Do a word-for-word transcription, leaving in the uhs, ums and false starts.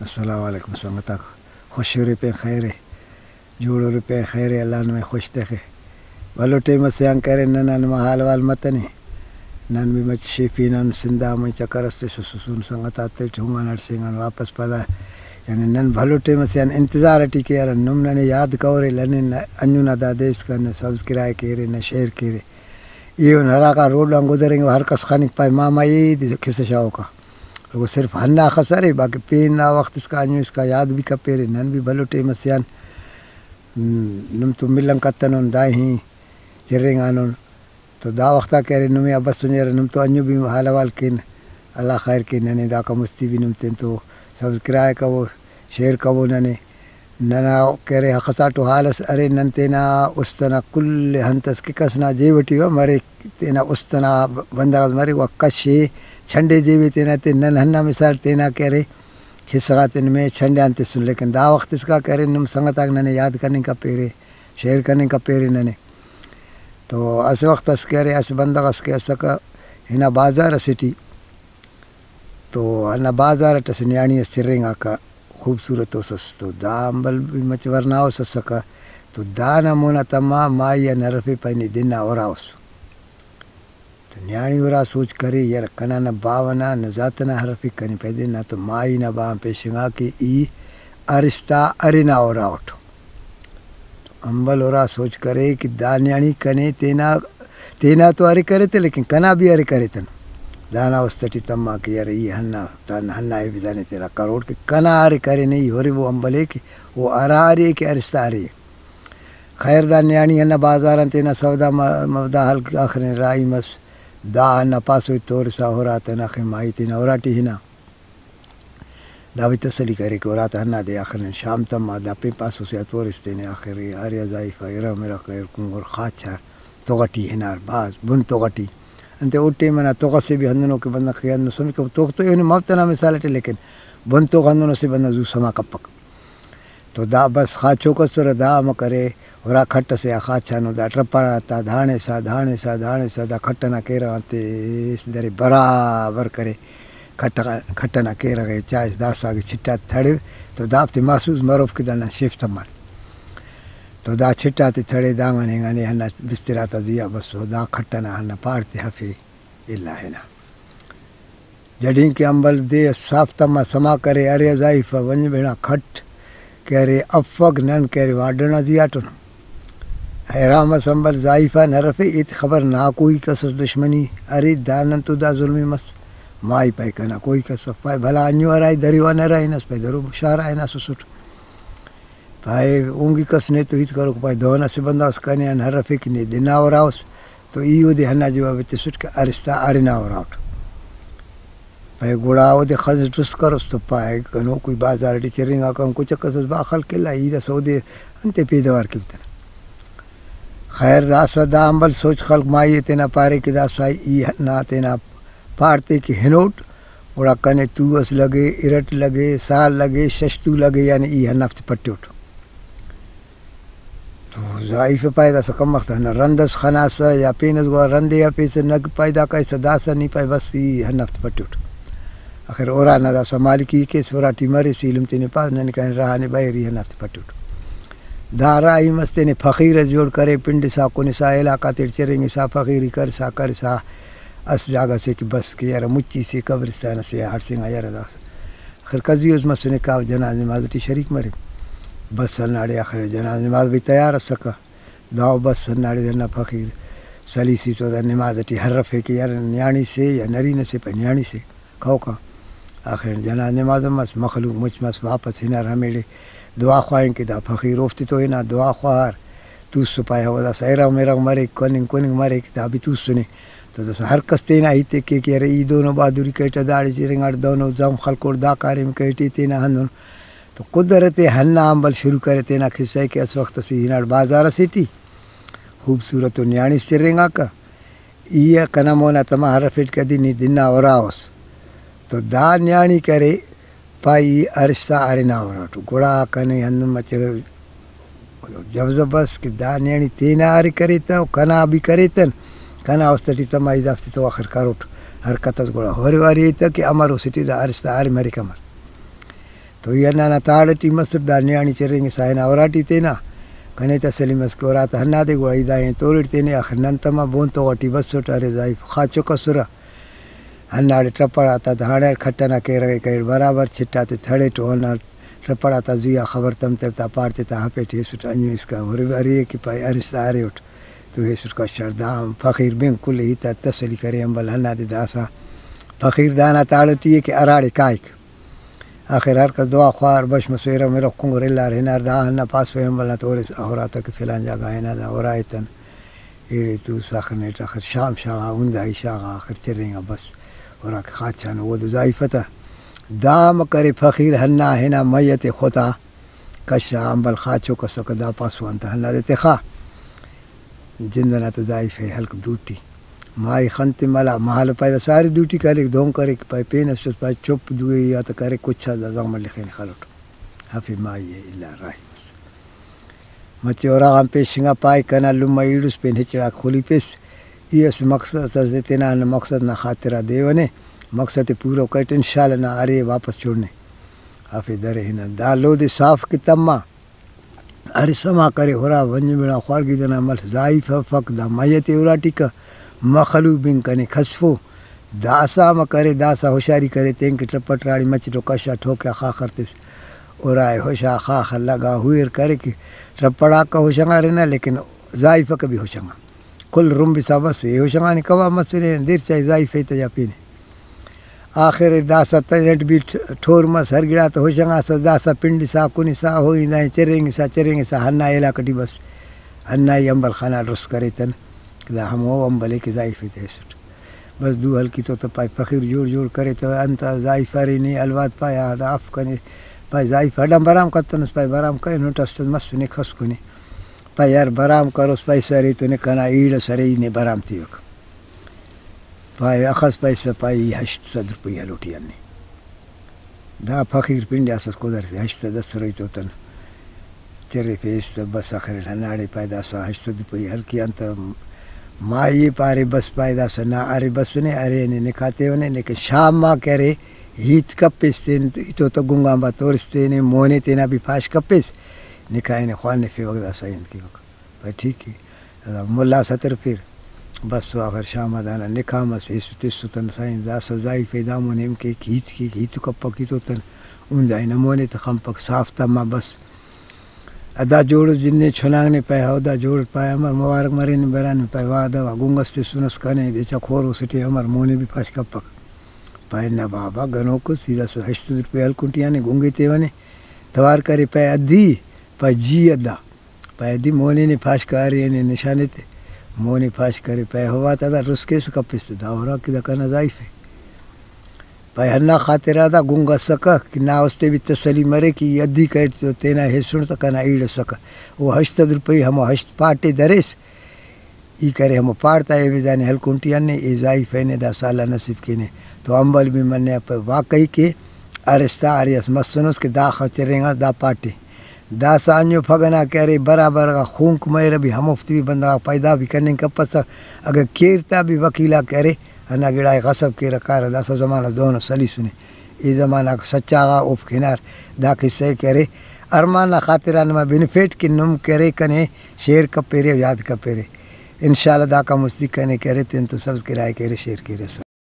السلام علیکم سنگتاک، خوش ارے پین خیر ءِ، جوڑ ارے پین خیر ءِ، اللہ نمے خوش تخے۔ بھلو ٹائم اسے آن کرے ننا نما حال احوال متنے۔ نن بھی مچ شیفی نن سندھ آ مچ چکر اس تسسسون سنگت آتیٹ ہنگان ہڑسینگان واپس پدا، یعنی نن بھلو ٹائم اسے آن انتظار ٹی کیرہ، نم ننے یاد کورے لنن انجو نا دا دے اسکان نہ سبسکرائب کیرے نہ شیئر کیرے۔ ایہن ہراکا روڈ آن گزرینگو ہر کس خنک پائے ماما اے دے کسہ شاغوکا۔ او صرف ہنداخس ارے، باقی پین نا وخت اسکا، انجو اسکا یاد بھی کپیرے، نن بھی بھلو ٹائم اسے آن، ہم، نم تو ملنگ کتنن، دائیں چرینگانن۔ تو دا وخت آ کہ ارے نمے آ بسنے ارے، نم تو انجو بھی حال احوال کین، اللہ خیر کے، ننے داکا مستی بھی نم تین تو سبسکرائب کبو، شیئر کبو ننے۔ ننا کہ ارے ہخساٹو حال اس ارے، نن تینا است ئنا کل انت اس کہ کس نا جیب ٹی و مریک، تینا است ئنا بندغ اس مریک، و کشے چھنڈے جیبے تینا تے۔ نن ہندا مثال تینا کہ ارے حصہ غاتے نمے چھنڈے آن تسن، لیکن دا وخت اسکا کہ ارے نم سنگت آک ننے یاد کننگ کپیرے، شیئر کننگ کپیرے ننے۔ تو اسہ وخت اس کہ ارے اسہ بندغ اس کہ اسکہ ہنا بازار اسے ٹی، تو ہندا بازار اٹ اسہ نیاڑی اس چرینگاکہ، خوبصورت اس ئس، تو دا امبل بھی مچ ورناؤس اسکہ، تو دانا مونا تما مائی آن ہرفے پائے نی دنا اراؤس۔ تو نیاڑی ارا سوچ کرے، یار کنا نہ باوہ نا نہ ذات ئنا ہرفک، کنے پائے دے نا تو مائی نا باوہ آن پیشنگا کہ ای ارستا ارنا اراٹ۔ امبل ارا سوچ کرے کہ دا نیاڑی کنے تینا، تینا تو ارے کرے تہ، لیکن کنا بھی ارے کرے تہ۔ دانا است ٹی تما کہ یار ای ہندا، دانا ہندا ای بزانے تینا کروٹ کہ کنا ارے کرے نے ای ہرے وہ امبلے کہ او ارا ارے کہ ارستا ارے۔ خیر دا نیاڑی ہندا بازار آن تینا سودا م-، مودا ہلک آخرین راہی مس۔ دا ہندا پاسو ای تورسا ہرا تہ نخے مائی تینا اراٹی ہنا۔ دا بھی تسلی کرے کہ اراتا ہندا دے آخر نن شام تما، دا پین پاسو سے آ تورس تینے آخر ارے آ زائیفا ارغ مرغ کریر کنگر خاچا تغ ٹی ہنار بھاز بن تغ ٹی۔ انتئے او ٹائم ئنا تغ ئسے بھی ہندنو کہ بندغ کہ ہندن سمجھکہ تغ تو ایہن مف تنا مثال ئٹی لیکن بن تغ ہندنو سے بندغ زو سما کپک۔ تو دا بس خاچوک ئسرہ، دا امر کرے، ہرا کھٹ ئسے آ خاچانو دا ٹرپاڑا تا دھانڑسا، دھانڑسا، دھانڑسا، دا کھٹ ئنا کیرغ آن تیس درے برابر کرے۔ کھٹ غا-، کھٹ ئنا کیرغ ئے چائس، داسہ اگہ چٹاتے تڑو تو دافتے محسوس مروف کہ دانا شیف تمار۔ تو دا چٹاتے تڑے دانگانے اینگانے ہندا بستر آتا زیہا بسو، دا کھٹ ئنا ہندا پاڑ تے ہفے الا ہنا۔ جڈین کہ امبل دے ئس صاف تما سما کرے، ارے آ زائیفا ونج بیڑا کھٹ کہ ارے افک، نن کہ ارے وارڈ ئنا زیہاٹن۔ حیران مس امبل زائیفا نرفے، ایت خبر نا کوئی کس ئس دشمنی ارے، دا نن تو دا ظلم ئے مس۔ مائی پائے کنا کوئی کس اف، پائے بھلا انجو ہرا ای دریوان ہرا ہنس، پائے درو شارا ہناسسٹ۔ پائے اونگی کس نے تو ہیت کروک، پائے دہن اسہ بندغ اس کنے آن ہرفے کہ نے دنا اراؤس، تو ای اودے ہندا جواب ئے تسٹ کہ ارستا ارنا اراٹ۔ پائے گڑا اودے خضر ٹس کروس تو پائے گنوکوئی بازار ٹی چرینگاکان کچک ئس ئس با خلق الا، ای داسہ اودے انتے پیدوار کیوتہ۔ خیر داسہ دا امبل سوچ خلق مائی ئے تینا پارے کہ داسہ ای ہنا تینا پاڑ تے کہ ہنوٹ، گڑا کنے تو ئس لگے، ارٹ لگے، سال لگے، شش تو لگے، یعنی ای ہندافتے پٹیوٹ۔ تو زائیفا پائے داسہ کم وخت ہندا رند ئس خناسہ یا پین ئس گڑا رندے ہرفیسہ، نگ پائے دا کائسہ داسہ نی پائے بس ای ہندافتے پٹیوٹ۔ آخر ارانا داسہ مالکی کیس، اراٹی مریس، ایلم تینے پاس ننے کنے راہ نے بریری ہندافتے پٹیوٹ۔ دا راہی مس تینے فقیر ئس جوڑ کرے، پنڈسا کنسا علاقہ تیٹ چرینگسا فقیری کرسا کرسا اس جاگہ سے کہ بس کہ یارہ مچی سے قبرستان سے ہڑسینگا یارہ داسہ۔ آخر قضیہ اس مسنے کاو جناز نماز ٹی شریک مرے۔ بس ہنداڑے آخر جناز نماز بھی تیار اسکہ۔ داو بس ہنداڑے ہندا فقیر سلیسی تو دا نماز ٹی ہرفے کہ یار نیاڑی سے یا نرینہ سے پہ نیاڑی سے کہوکا۔ آخر جناز نماز ہم مس، مخلوق مچ مس، واپس ہنار ہمیڑے دعا خواہنگ کہ دا فقیر اوفتے تو ہنا دعا خواہار، توسو پائے ہو داسہ ارغ مرغ مریک، کننگ کننگ مریک، دا بھی توسنے۔ تو داسہ ہر کس تینا ہیت ء کے کہ ارے ای دہنو بہادری کریٹہ، داڑے چرینگاٹ دہنو زغم خلکوٹ، دا کاریم کریٹی تینا ہندن۔ تو قدرت ہندا امبل شروع کرے تینا قصہ ء کہ اسہ وخت اسے ہناٹ بازار اسے ٹی خوبصورت و نیاڑیس چرینگاکہ۔ ای کنا مونا تما ہرفیٹ کدی نی دنا اراؤس۔ تو دا نیاڑی کرے پائے ای ارستا ارنا اراٹو۔ گڑا کنے ہندن مچہ جوزہ بس کہ دا نیاڑی تینا ارے کریتہ و کنا بھی کریتن، کنا است ٹی تما ای دافتے تو آخر کروٹ حرکت اس۔ گڑا ہورے واری ایتہ کہ امر اسے ٹی دا ارستا ارے مریک امر۔ تو ای ہندا نا تاڑ ٹی مسٹ، دا نیاڑی چرینگسا ہنا اراٹی تینا، کنے تسلی مس کہ اراتا ہندادے، گڑا ای دا ہن تولٹ تینے، آخر نن تما بون تو غٹی بسٹ، ارے زائیف خاچوک اسرہ۔ ہنداڑے ٹپڑ آتا داڑے کھٹ ئنا کیرغ ئے کریٹ، برابر چٹ آتے تھڑیٹ و ہندا ٹپڑ آتا زی آ خبر تمتو تا پاڑ تے تا ہپیٹ ہیسٹ، انجو اسکا ہر ارے کہ پائے ارسا ارے اٹ تو ہیسٹ کشار۔ دا ہم فقیر بن کل ہیت آ تسلی کرے، امبل ہندادے داسا فقیر دانا تاڑ ٹی ءِ کہ اراڑے کائک۔ آخر ہر کس دعا خوار بش مسیرہ، مرو کنگر الار ہنار، دا ہندا پاسو ہمبل نا تورس، اخراتا کہ فلان جاگہ ہنا دا اورا ایتن۔ ایڑے توس آخر نیٹ آخر شام شاغا، ہندا ای شاغا آخر چرینگا بس۔ اورا کہ خاچانو اودے زائیفہ تا۔ دا ہم کرے فقیر ہندا ہنا میت ختا کشا، امبل خاچوک اسکہ، دا پاسو آن تا ہندادے تخا۔ جند ئنا تہ زائیفہ ہلک دوٹی۔ مائی خن تے ملا، مہالو پائے دا سارے دوٹی کالیک، دہن کریک، پائے پین اسس، پائے چپ دوئے یا تہ کریک، کچا دا زغم لخینے خلوٹ۔ ہفے مائی ئے الا راہی مس۔ مچہ اراغان پیشنگا پائے، کنا لمہ ایڑس پین ہچڑاک خلیپس۔ ای اسہ مقصد ئسے تینا ہندا مقصد نا خاطرا دیونے، مقصد ئے پورو کریٹ، انشاءاللہ نا ارے واپس چوڑنے۔ ہفے درے ہنا دا لودے صاف کہ تما۔ ارے سما کرے ہرا ونج مڑا خوارگی دنا مل زائیفہ افک، دا میت ئے اراٹی کہ مخلوق بن کنے کھسفو۔ داسا امر کرے، داسا ہوشاری کرے، تینکہ ٹپٹ راڑی مچٹ و کشا ٹھوکیا خاخر تس۔ اورائے ہوشا خاخر لگا ہوئر کرے کہ ٹپڑاکہ ہوشنگارنہ، لیکن زائیفکہ بھی ہوشنگا۔ کل رمبسا بس، اے ہوشنگانے کباب مسنے، دیر چائے زائیفہ تے یا پینے۔ آخر داسا تینٹ بھی ٹھ-، ٹھور مس، ہر گڑاتا ہوشنگاسس، داسا پنڈسا، کنسا، ہوئی دائیں چرینگسا، چرینگسا ہندا علاقہ ٹی بس۔ ہندا ای امبل خنا ڈرس کریتن، دا ہمو امبلے کہ زائیفہ تے ہیسٹ۔ بس دو ہلکی تو تہ پائے فقیر جوڑ جوڑ کرے تہ انت زائیفہ ارے نے الواد پائے آ دا اف کنے، پائے زائیفہ اڈان برام کتنس، پائے برام کرینٹ اسٹ مسنے کھسکنے۔ پائے یار برام کروس پیسہ ارے تو نے کنا ایڑ ئس ارے ای نے برام تیوک۔ پائے اخس پیسہ پائے ای ہشت سد روپئی ہلوٹی ہننے۔ دا فقیر پنڈیاسس قدرتے ہشت سد اسرہ ای تو تن چرفیس تہ بس آخر ہنداڑے پائے داسا ہشت سد روپئی ہلکی آن تہ مائی ئے پارے بس پائے داسا نا ارے بسنے ارے نے نکاح تیونے لیکن شام آ کہ ارے ہیت کپیس تین ای تو تہ گنگان با تورس تینے مونے تینا بھی پاش کپیس نکاح ئے نے خوانفیوک داسا ہی انت کیوک۔ پائے ٹھیک ءِ، ملا سترفیر۔ بس و آخر شام آ دانا نکاح مس، ایسٹ تسو تن سائیں داسہ زائیفہ دامون ہم کیک، ہیت کیک، ہیت و کپک ہیتو تن، ہندا ہنا مونے تہ خنپک صاف تما بس۔ ادا جوڑ جندے چناگ نے پائے ہو، دا جوڑ پائے امر مبارک مرین بران پائے وعدہ وا گنگ اس تسنس کنے دے چا کھور اسٹے امر مونے بھی پاش کپک۔ پائے نہ بابا گنوک اس، ای داسہ ہشت سد روپے ہلکن ٹی آنے گنگے تیونے، توار کرے پائے ادھی، پائے جی ادا۔ پائے دی مونے نے پاش کارے نے نشان ایتے۔ مونے پاش کرے پائے ہوا تا دا رس کیس کپس تہ دا ہورا کہ دا کنا زائیفے۔ پائے ہندا خاطرا دا گنگ اسکہ کہ نا استے بھی تسلی مرے کہ ای ادھی کریٹ تو تینا ہیسن تہ کنا ایڑ اسکہ۔ او ہشت سد روپئی ہمو ہشت پاٹے دریس۔ ای کرے ہمو پاڑ تا ایویزانے ہلکن ٹی ہنے، اے زائیفہ نے دا سال آ نصیب کینے۔ تو امبل بھی منہ پہ واقعی کہ ارستا ارے اس مسنس کہ داخہ چرینگاس دا پاٹے۔ داسہ انجو پھگہ نا کہ ارے برابر غا خونک مریرہ بھی ہموفتے بھی بندغاک پیدا بھی کننگ کپسہ، اگہ کیر تا بھی وکیل آک ارے ہندا گڑا ئے غصب کیرہ کارہ، داسہ زمانہ دہنو سلیسنے۔ ای زمانہ آک سچا غا اوفک ہنار۔ دا قصہ ئے کہ ارے ارمان نا خاطران نما بنفیٹ کہ نم کہ ارے کنے شیئر کپیرے و یاد کپیرے۔ انشاءاللہ داکان مستی کنے کہ ارے تینتون سبسکرائب کیرے، شیئر کیرے۔